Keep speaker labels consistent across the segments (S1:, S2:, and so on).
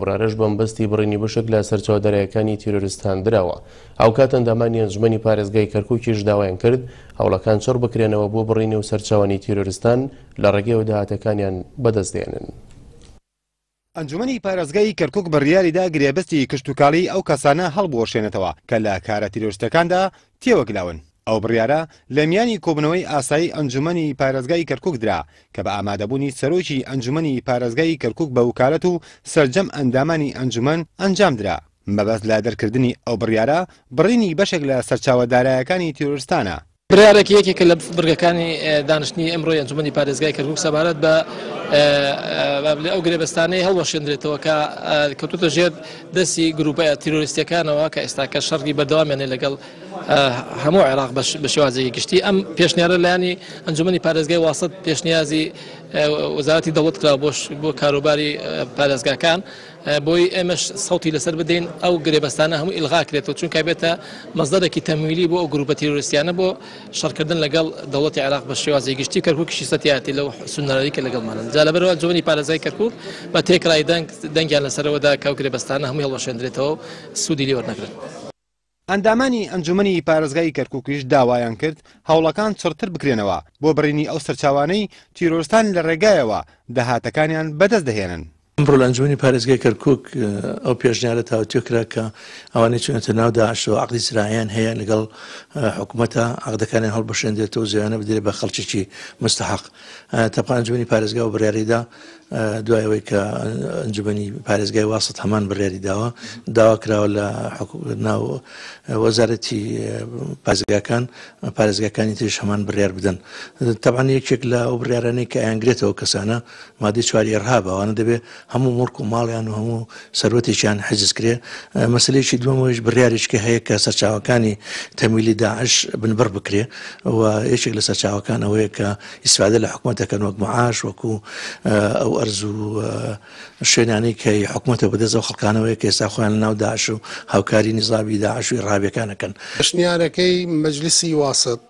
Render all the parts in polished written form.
S1: بڕیارەش بەمەبەستی بڕینی بەشێک لە سەرچاوە داراییەکانی تیرۆرستان دراوە. هاوکات ئەندامانی ئەنجومەنی پارێزگای کەرکوکیش داوایان کرد هەوڵەکان چڕ بکرێنەوە بۆ بڕینی و سەرچاوانی تیرۆرستان لە ڕێگەیەوە داهاتەکانیان بەدەست دێنن.
S2: ئەنجومەنی پارێزگای کەرکوک بڕیاریدا گرێبەستی کشتوکاڵی ئەو کەسانە هەڵبوەشێنێتەوە کە لە کارە تیرۆریستیەکاندا تێوەگلاون. ئەو بڕیارە لە میانی کۆبوونەوەی ئاسایی ئەنجومەنی پارێزگای کەرکوک درا کە بە ئامادەبوونی سەرۆکی ئەنجومەنی پارێزگای کەرکوک بە وکالەت و سەرجەم ئەندامانی ئەنجومەن ئەنجامدرا. مەبەست لە دەرکردنی ئەو بڕیارە بڕینی بەشێک لە سەرچاوە دارایەکانی تیرۆرستانە.
S3: بڕیارێک یەکێکە لە بڕگەکانی دانیشتنی ئەمڕۆی ئەنجومەنی پارێزگای کەرکوک سەبارەت بە ئەو گرێبەستانەی هەڵوەشێندرێتەوە کە کەوتووەتە ژێر دەستی گروپە تیرۆریستیەکانەوە کە ئێستاکە شەڕی بەردەوامیان هەیە لەگەڵ هەموو عێراق بە شێوازێکی گشتی. ئەم پێشنیارە لایەنی ئەنجومەنی پارێزگای واسط پێشنیازی وەزارەتی دەوڵەت کرا بۆ کاروباری پارێزگاکان بۆی ئێمەش سەوتی لەسەر بدەین ئەو گرێبەستانە هەموو ئیلغا کرێتەوە، چونکە بێتە مەزدەرێکی تەمویلی بۆ ئەو گروپە تیرۆریستیانە بۆ شەڕکردن لەگەڵ دەوڵەتی عێراق بە شێوازی گشتی. کەرکوکیشی سەتیاتی لەو سوننەرەی کە لەگەڵمانن. جا لەبەرەوە ئەنجومەنی پارێزگای کەرکوک بە تێکڕای دەنگ دەنگیان لەسەرەوەدا کە ئەو گرێبەستانە هەمووی هەڵوەشێندرێتەوە و سوودی لێ وەرنەگرن.
S2: ئەندامانی ئەنجومەنی پارێزگای کەرکوکیش داوایان کرد هەوڵەکان چڕتر بکرێنەوە بۆ بڕینی ئەو سەرچاوانەی تیرۆرستان لە ڕێگایەوە داهاتەکانیان بەدەست دەهێنن.
S4: ئەمڕۆ لە ئەنجومەنی پارێزگای کەرکوک ئەو پێشنیارە تاوتوێ کرا کە ئەوانەی چوونەتە ناو داعشەوە عەقدی زراعیان هەیە لەگەڵ حکومەتە عەقدەکانیان هەڵبەشێندرێتەوە و زەویانە بدرێت بە خەڵکێکی مستەحەق. تەبقا ئەنجومەنی پارێزگا ئەو بڕیارەی دا دوای ئەوەی کە ئەنجومەنی پارێزگای واسط هەمان بڕیاری داوە، داوا کراوە لە ناو وەزارەتی پارێزگاکان پارێزگاکانی تریش هەمان بڕیار بدەن. تەبعەن یەکێک لە ئەو بڕیارانەی کە ئەیانگرێتەوە کەسانە مادەی چواری ئێرهابە، ئەوانە دەبێ هەموو موڵک و ماڵیان و هەموو سەروەتێکیان حجز کرێ. مەسەلەیەکی دووەمەوەیش بڕیارێکی کە هەیە کە سەرچاوەکانی تەمویلی داعش بنبڕ بکرێ و یەکێک لە سەرچاوەکان ئەوەیە کە ئیسفادە لە حکومەت دەکەن وەک معاش، وەکو ئەو ئەرز و شوێنانەی کە حکومەتە بەدەست ئەو خەڵکانەوەیە کە ئێستا خۆیان لەناو داعش و هاوکاری نیزامی داعش و ئیرهابیەکان ئەکەن.
S5: پێشنیارەکەی مەجلیسی واسط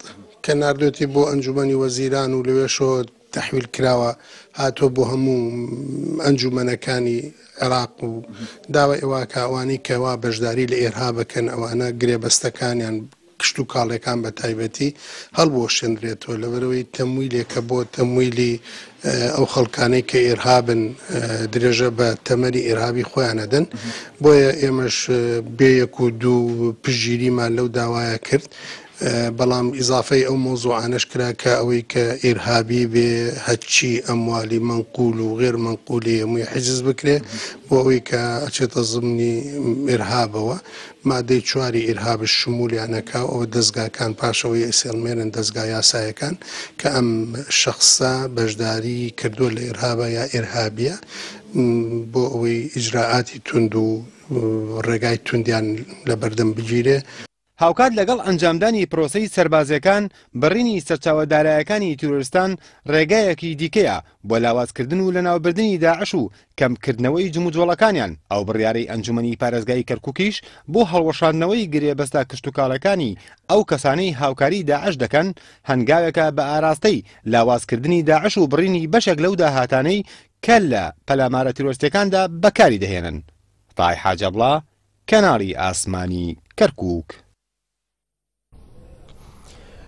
S5: کە ناردوێتی بۆ ئەنجومەنی وەزیران و لەوێشەوە تەحویل کراوە هاتووە بۆ هەموو ئەنجومەنەکانی عێراق و داوای ئەوە کە ئەوانەی کەوا بەشداری لە ئێرهابەکەن ئەوانە گرێبەستەکانیان کشتوکاڵیەکان بە تایبەتی هەڵبوەشێندرێتەوە لەبەرئەوەی تەمویلێکە بۆ تەمویلی ئەو خەڵکانەی کە ئێرهابن درێژە بە تەمەنی ئێرهابی خۆیان ئەدەن بۆیە ئێمەش بێ یەک و دوو پشتگیریمان لەو داوایە کرد بەڵام ئیزافەی ئەو مەوزوعانەش کرا کە ئەوەی کە ئیرهابی بێ هەرچی ئەموالی مەنقول و غێر مەنقولی هەمووی حجز بکرێ بۆ ئەوەی کە ئەچێتە زمنی ئیرهابەوە مادەی چواری ئیرهابش شمولیان ئەکا و ئەوە دەزگاکان پاش ئەوەی ئەیسێڵمێنن دەزگا یاسایەکان کە ئەم شەخسە بەشداری کردووە لە ئیرهابا یا ئیرهابیە بۆ ئەوەی ئیجرائاتی توند و ڕێگای توندیان لەبەردەم بگیرێ.
S2: هاوکات لەگەڵ ئەنجامدانی پرۆسەی سەربازییەکان، بڕینی سەرچاوە دارایەکانی تیرۆرستان ڕێگایەکی دیکەیە بۆ لاوازکردن و لەناوبردنی داعش و کەمکردنەوەی جموجۆڵەکانیان، ئەو بڕیارەی ئەنجومەنی پارێزگای کەرکوکیش بۆ هەڵوەشاندنەوەی گرێبەستە کشتوکاڵەکانی ئەو کەسانەی هاوکاری داعش دەکەن، هەنگاوێکە بە ئاراستەی لاوازکردنی داعش و بڕینی بەشێک لەو داهاتانەی کە لە پەلامارە تیرۆرستیەکاندا بەکاری دەهێنن. تای حاجەبڵا، کەناڵی ئاسمانی کەرکوک.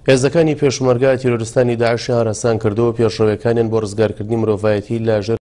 S1: هێزەکانی پێشمەرگە تیرۆرستانی داعشیان هەراسان کردووە و پێشڕەویەکانیان بۆ ڕزگارکردنی مرۆڤایەتی لە ژێر.